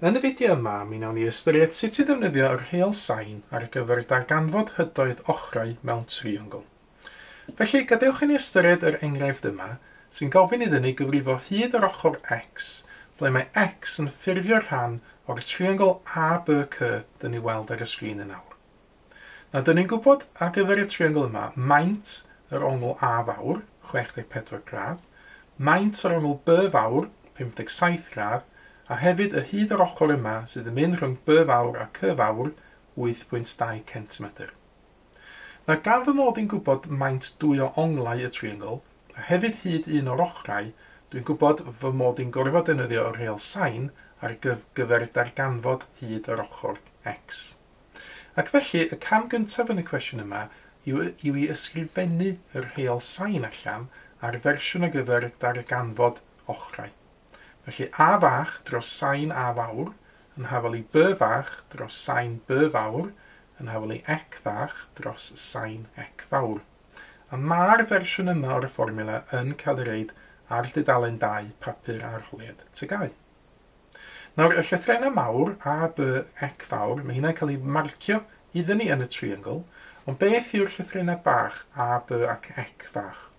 Yn y fideo yma, mi wnawn ni ystyried sut i ddefnyddio yr rheol sain ar gyfer darganfod hydoedd ochrau mewn triongl. Felly, gadewch i ni ystyried yr enghraifft yma, sy'n gofyn iddyn ni gyfrifo hyd yr ochr x, ble mae x yn ffurfio rhan o'r triongl ABC dyn ni weld ar y sgrin yn awr. Nawr, dyn ni'n gwybod ar gyfer y triongl yma, maint yr ongl A fawr, 64 gradd, maint yr ongl B fawr, 57 gradd, a hefyd y hyd o'r ochr yma sydd yn mynd rhwng B fawr a C fawr, 8.2 cm. Nawr, gan fy mod i'n gwybod maint dwy o onglau y triongl, a hefyd hyd un o'r ochrau, dwi'n gwybod fy mod i'n gorfod defnyddio y rheol sain ar gyfer darganfod hyd yr ochr x. Ac felly, y cam gyntaf yn y cwestiwn yma yw i ysgrifennu y rheol sain allan ar fersiwn ar gyfer darganfod ochrau. Felly A fach dros sain A fawr yn hafal i B fach dros sain B fawr yn hafal i C fach dros sain C fawr. A mae'r fersiwn yma o'r fformiwla yn cael ei reid ar dudalen 2 papur arholiad TGAU. Nawr, y llythrennau mawr, A, B, C fawr, mae hynna'n cael ei marcio iddyn ni yn y triongl, ond beth yw'r llythrennau bach, A, B ac C fach?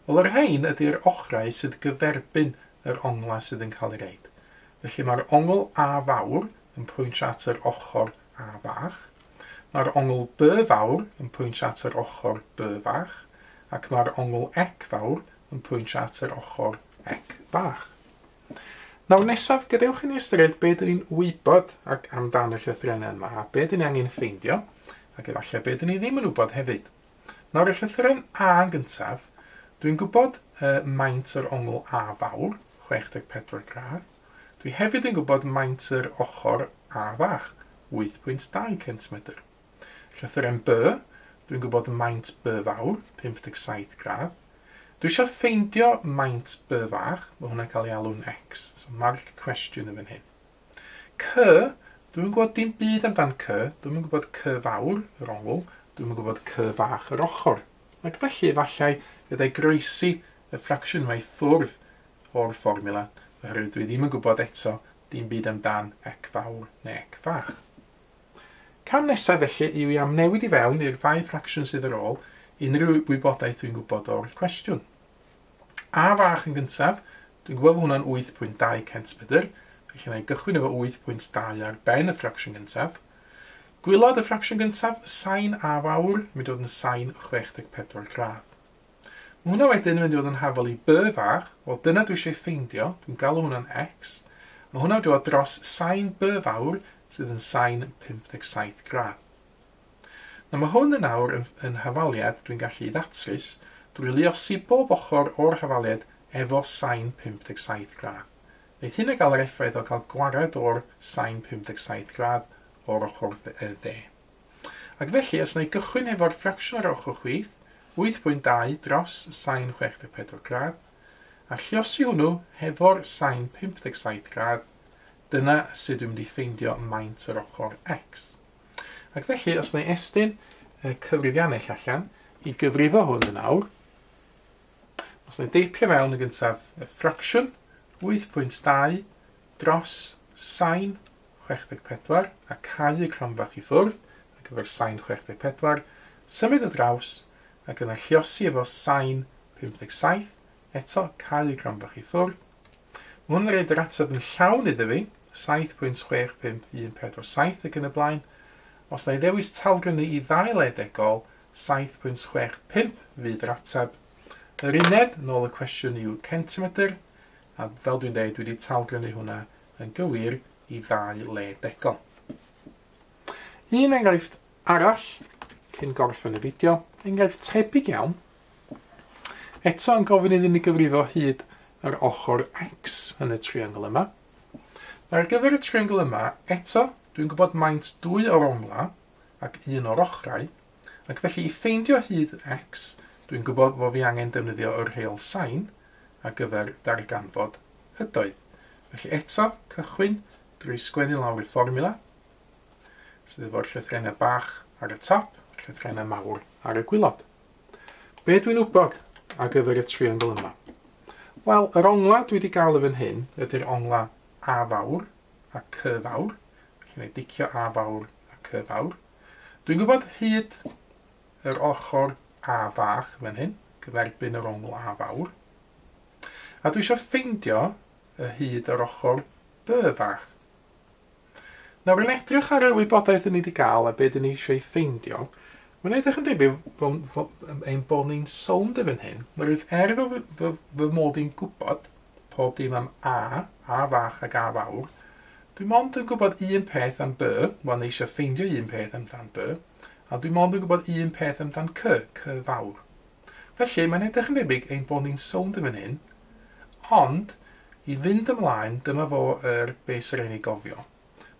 Wel, yr rhain ydy'r ochrau sydd gyferbyn yr onglau sydd yn cael ei reid. Felly mae'r ongl A fawr yn pwyntio at yr ochr A fach, mae'r ongl B fawr yn pwyntio at yr ochr B fach, ac mae'r ongl C fawr yn pwyntio at yr ochr C fach. Nawr nesaf, gadewch i ni ystyried be dyn ni'n wybod ac amdan y llythrennau yma, a be dyn ni angen ffeindio, ac efallai be dyn ni ddim yn wybod hefyd. Nawr y llythyren A yn gyntaf, dwi'n gwybod maint yr ongl A fawr, 64 gradd. Dwi hefyd yn gwybod maint yr ochr A fach, 8.2 cm. Llythyren B, dwi'n gwybod maint B fawr, 57 gradd. Dwi eisiau ffeindio maint B fach, mae hwnna'n cael ei alw'n X, so marc cwestiwn yn fan hyn. C, dwi'n gwybod dim byd amdan C, dwi'n gwybod C fawr, yr ongl, dwi'n gwybod C fach yr ochr. Ac felly, efallai, fyddai groesi y ffracsiwn yma i ffwrdd o'r fformiwla, oherwydd dwi ddim yn gwybod eto dim byd amdan C fawr neu C fach. Cam nesaf felly yw i amnewid i fewn i'r ddau ffracsiwn sydd ar ôl unrhyw wybodaeth dwi'n gwybod o'r cwestiwn. A fach yn gyntaf, dwi'n gwybod bod hwnna'n 8.2 cm, felly na i gychwyn efo 8.2 ar ben y ffracsiwn gyntaf. Gwylod y ffracsiwn gyntaf, sain A fawr, mynd i fod yn sain 64 gradd. Mae hwnna wedyn yn mynd i fod yn hafal i B fach, wel dyna dwi eisiau ffeindio, dwi'n galw hwnna'n X. Mae hwnna wedi bod dros sain B fawr sydd yn sain 57 gradd. Nawr mae hwn yn awr yn hafaliad dwi'n gallu ddatrys drwy luosi bob ochr o'r hafaliad efo sain 57 gradd. Wneith hynna gael yr effaith o cael gwared o'r sain 57 gradd o'r ochr dde. Ac felly, os wna i gychwyn efo'r ffracsiwn ar ochr chwith, 8.2 dros sain 64 gradd, a lluosi hwnnw hefo'r sain 57 gradd, dyna sut dwi'n mynd i ffeindio maint yr ochr X. Ac felly, os wna i estyn y cyfrifiannell allan i gyfrifo hwn yn awr, os wna i deipio fewn yn gyntaf y ffracsiwn 8.2 dros sain 64 a cau y cronfach i ffwrdd ar gyfer sain 64, symud y draws ac yna lluosi efo sain 57, eto cau y cronfach i ffwrdd. Mae hwn yn rhaid yr ateb yn llawn iddo fi, 7.65147 ac yn y blaen. Os na i ddewis talgrynnu i ddau le degol, 7.65 fydd yr ateb. Yr uned, yn ôl y cwestiwn, yw centimetr, a fel dwi'n dweud, dwi wedi talgrynnu hwnna yn gywir i ddau le degol. Un enghraifft arall, cyn gorffen y fideo, enghraifft tebyg iawn, eto yn gofyn iddyn ni gyfrifo hyd yr ochr X yn y triongl yma. Ar gyfer y triongl yma, eto, dwi'n gwybod maint dwy o'r ongla ac un o'r ochrau, ac felly i ffeindio hyd X, dwi'n gwybod fod fi angen defnyddio yr rheol sain ar gyfer darganfod hydoedd. Felly eto, cychwyn drwy sgwennu lawr y fformiwla, sydd efo'r llythrennau bach ar y top, llythrennau mawr ar y gwilod. Be dwi'n wybod ar gyfer y triongl yma? Wel, yr ongla dwi wedi gael yn fan hyn ydy'r ongla A fawr a C fawr. Felly wna i dicio A fawr a C fawr. Dwi'n gwybod hyd yr ochr A fach fan hyn, gyferbyn yr ongl A fawr. A dwi eisiau ffeindio y hyd yr ochr B fach. Nawr, yn edrych ar y wybodaeth ni wedi gael a be dyn ni eisiau ffeindio, mae'n edrych yn debyg ein bod ni'n sownd yn fan hyn. Oherwydd er fy mod i'n gwybod pob dim am A, A fach ac A fawr, dwi mond yn gwybod un peth am B, wel, ni eisiau ffeindio un peth amdan B, a dwi mond yn gwybod un peth amdan C, C fawr. Felly, mae'n edrych yn debyg ein bod ni'n sownd yn fan hyn, ond i fynd ymlaen, dyma fo yr beth sy'n rhaid ni gofio.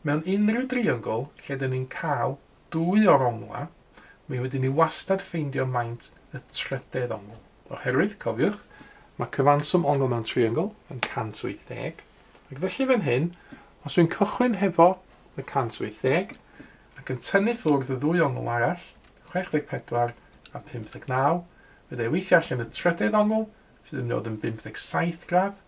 Mewn unrhyw driongl lle dyn ni'n cael dwy o'r ongla, mi wedyn ni wastad ffeindio maint y trydedd ongl. Oherwydd, cofiwch, mae cyfanswm ongl mewn triongl yn 180, ac felly fan hyn, os dwi'n cychwyn hefo y 180 ac yn tynnu ffwrdd y ddwy ongl arall, 64 a 59, fydda i weithio allan y trydedd ongl, sydd yn mynd i fod yn 57 gradd,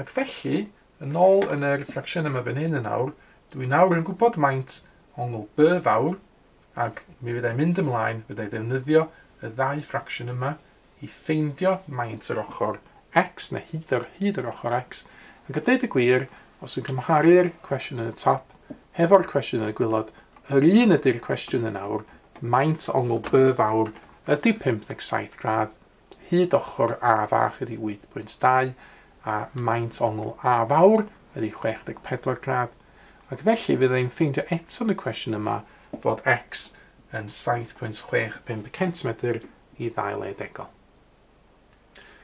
ac felly, yn ôl yn yr ffracsiwn yma fan hyn yn awr, dwi nawr yn gwybod maint ongl B fawr, ac mi fyddai'n mynd ymlaen, fyddai ddefnyddio y ddau ffracsiwn yma i ffeindio maint yr ochr x, neu hyd yr ochr x, ac a dweud y gwir, os yn cymharu'r cwestiwn yn y top hefo'r cwestiwn yn y gwaelod, yr un ydy'r cwestiwn yn awr, maint ongl B fawr ydy 57 gradd, hyd ochr A fach ydy 8.2, a maint ongl A fawr ydy 64 gradd, ac felly fyddai'n ffeindio eto yn y cwestiwn yma fod x yn 7.65 cm i ddau le degol.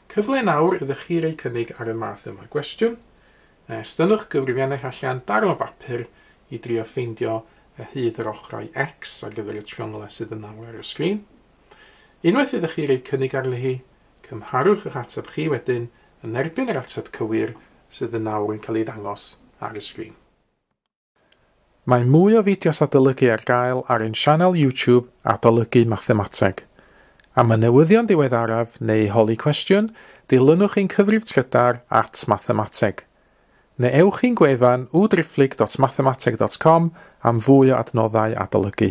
Cyfle nawr iddo chi roi cynnig ar y math yma o gwestiwn. Estynnwch gyfrifiannell allan darn o bapur i drio ffeindio y hyd yr ochrau x ar gyfer y trionglau sydd yn nawr ar y sgrin. Unwaith iddo chi roi cynnig arni hi, cymharwch eich ateb chi wedyn yn erbyn yr ateb cywir sydd yn nawr yn cael ei ddangos ar y sgrin. Mae mwy o fideos adolygu ar gael ar ein sianel YouTube Adolygu Mathemateg. Am y newyddion diweddaraf neu holi cwestiwn, dilynwch ein cyfrif trydar @mathemateg. Neu ewch i'n gwefan www.mathemateg.com am fwy o adnoddau adolygu.